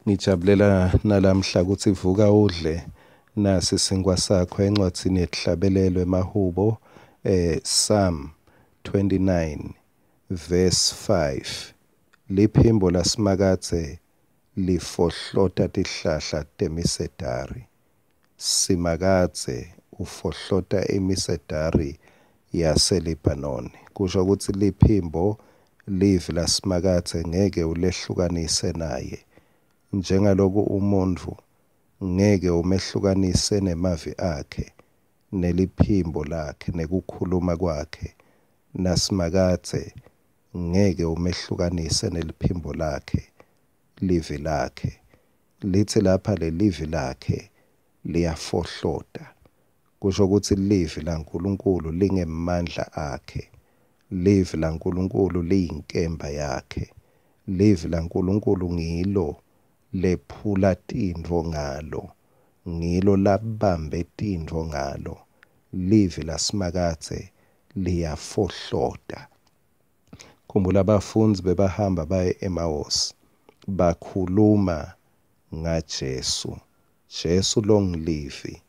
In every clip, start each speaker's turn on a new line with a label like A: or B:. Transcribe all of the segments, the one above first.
A: Ngijabulela nalamhla kutsi vuka udle nasi sinkwa sakho encwadzini yetihlabelelo emahubo, Psalm 29 verse 5. Liphimbo laSimakadze lifohlota tihlahla temisedari. Simakadze ufohlota imisedari yaseLibhanoni. Kusho kutsi liphimbo, livi laSimakadze ngeke ulehlukanise naye. Njengaloku umuntfu ngeke umehlukanise nemavi akhe, neliphimbo lakhe, nekukhuluma kwakhe, naSimakadze ngeke umehlukanise neliphimbo lakhe, livi lakhe. Litsi lapha lelivi lakhe liyafohlota. Kusho kutsi livi laNkulunkulu lingemandla akhe. Livi laNkulunkulu liyinkemba yakhe. Livi laNkulunkulu ngilo lephula tintfo ngalo. Ngilo labambe tintfo ngalo. Livi laSimakadze liyafohlota. Khumbula bafundzi bebahamba baye eMawosi bakhuluma ngaJesu. Jesu longuLivi.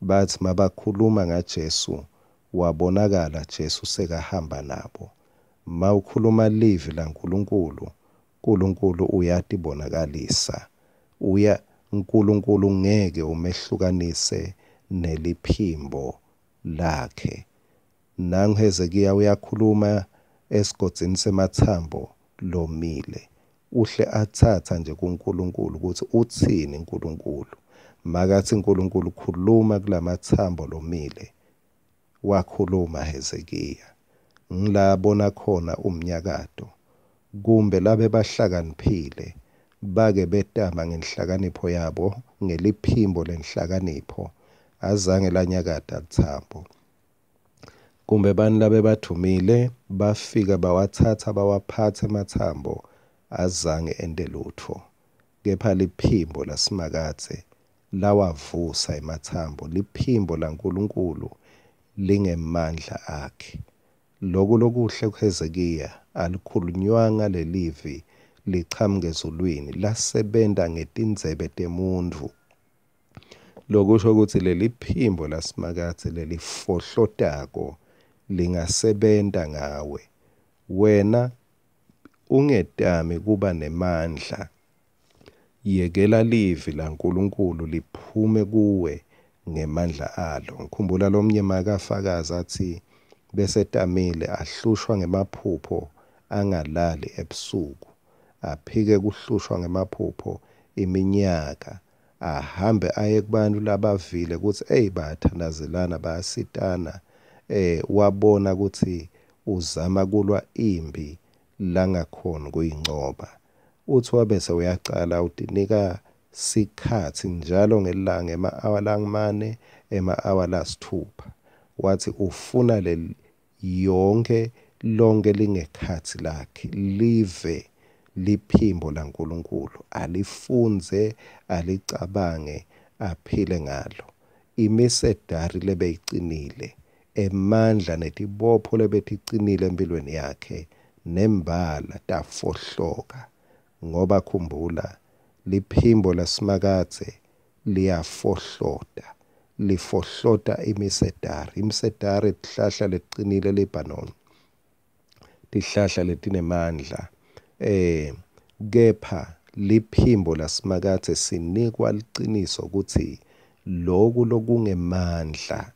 A: Batsi mabakhuluma ngaJesu wabonakala Jesu sekahamba nabo. Mawukhuluma livi laNkulunkulu, Nkulunkulu uyatibonakalisa. Uya Nkulunkulu ngeke umehlukanise neliphimbo lakhe. Nangu Hezekiya uyakhuluma esigodzini sematsambo lomile. Uhle atsatsa nje kuNkulunkulu kutsi utsini Nkulunkulu. Makatsi Nkulunkulu khuluma kulamatsambo lomile. Wakhuluma Hezekiya. Ngila abona khona umnyakato. Kumbe labe bahlakaniphile bake betama ngenhlakanipho yabo ngeliphimbo lenhlakanipho azange lanyakata litsambo. Kumbe bani labe badvumile bafika bawatsatsa bawaphatsa ematsambo azange ente lutfo. Kepha liphimbo laSimakadze lawavusa ematsambo, liphimbo laNkulunkulu lingemandla akhe. Loku lokuhle kuHezekiya alikhulunywanga lelivi lichamuka ezulwini lasebenta ngetindzebe temuntfu. Lokusho kutsi leliphimbo laSimakadze lelifohlotako lingasebenta ngawe. Wena ungetami kuba nemandla. Yekela livi laNkulunkulu liphume kuwe ngemandla alo. Ngikhumbula lomnye makafakaza atsi besetamile ahlushwa ngemaphupho angalali ebusuku. Aphike kuhlushwa ngemaphupho iminyaka. Ahambe aye kubantu labavile kutsi eyi bayathandazelana bayasitana. Wabona kutsi uzama kulwa imphi langakhoni kuyincoba. Utsi wabese uyacala utinika sikhatsi njalo ngelilanga ema-awa langumane, ema-awa lasitfupha. Watsi ufuna yonkhe lonke lingekhatsi lakhe live liphimbo laNkulunkulu alifundze alicabange aphile ngalo. Imisedari lebeyicinile, emandla netibopho lebeticinile empilweni yakhe nembala tafohloka. Ngoba khumbula liphimbo laSimakadze liyafohlota, lifohlota imisedari. Imisedari tihlahla leticinile eLebanon, tihlahla letinemandla. Kepha liphimbo laSimakadze sinikwa liciniso kutsi loku lokungemandla,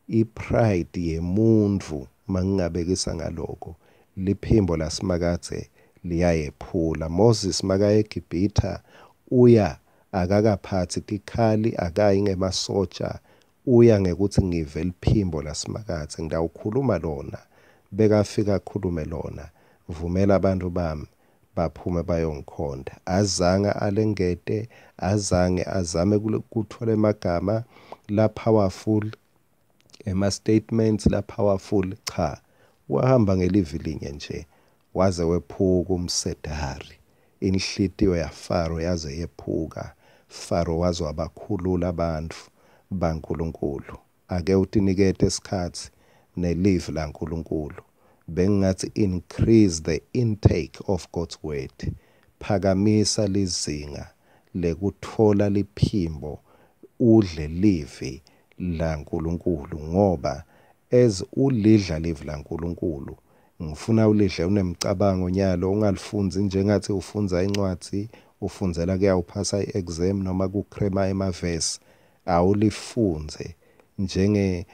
A: ipride yemuntfu mangingabekisa ngaloko, liphimbo laSimakadze liyayephula. Moses makaya eGibhitha uya akakaphatsi tikhali, akayi ngemasotsha, uya ngekuthi ngive liphimbo laSimakadze ngitawukhuluma lona. Bekafika akhulume lona, vumela abantu bami baphume bayongikhonta. Azange alengete, azange azame kutfola emagama la powerful, ema statements la powerful, cha. Wahamba ngelivi linye nje waze wephuka umsedari. Inhlitiyo yaFaro yaze yephuka. Faro waze wabakhulula bantfu baNkulunkulu. Ake utinikete isikhatsi nelivi laNkulunkulu. Bengingathi increase the intake of God's word. Phakamisa lizinga lekutfola liphimbo udle livi laNkulunkulu, ngoba as ulidla livi laNkulunkulu, ngifuna ulidle unemcabango nyalo, ungalifundzi njengathi ufundza incwadzi, ufundzela kuyawuphasa i-exam noma kukrema emavesi. Awulifundze njenge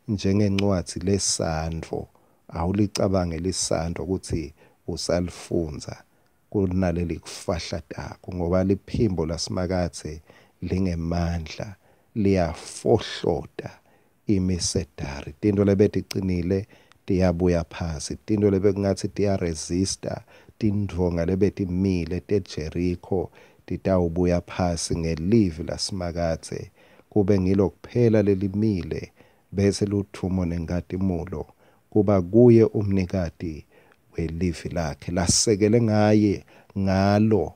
A: njengencwadzi lesandvo, awulicabange lisandvo kutsi usalifundza kunaleli kufahlatako, ngoba liphimbo laSimakadze lingemandla, liyafohlota imisedari. Tintfo lebeticinile tiyabuya phasi, tintfo lebekungatsi tiyaresista, tindvonga lebetimile teJerikho titawubuya phasi ngelivi laSimakadze, kube ngilo kuphela lelimile, bese ludvumo nenkhatimulo kuba kuye umnikati welivi lakhe lasekele ngaye ngalo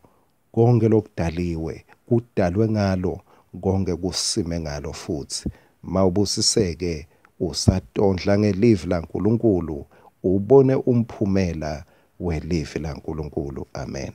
A: konke lokudaliwe, kudalwe ngalo konke, kusime ngalo futsi. Mawubusiseke usatondla ngelivi laNkulunkulu, ubone umphumela welivi laNkulunkulu. Amen.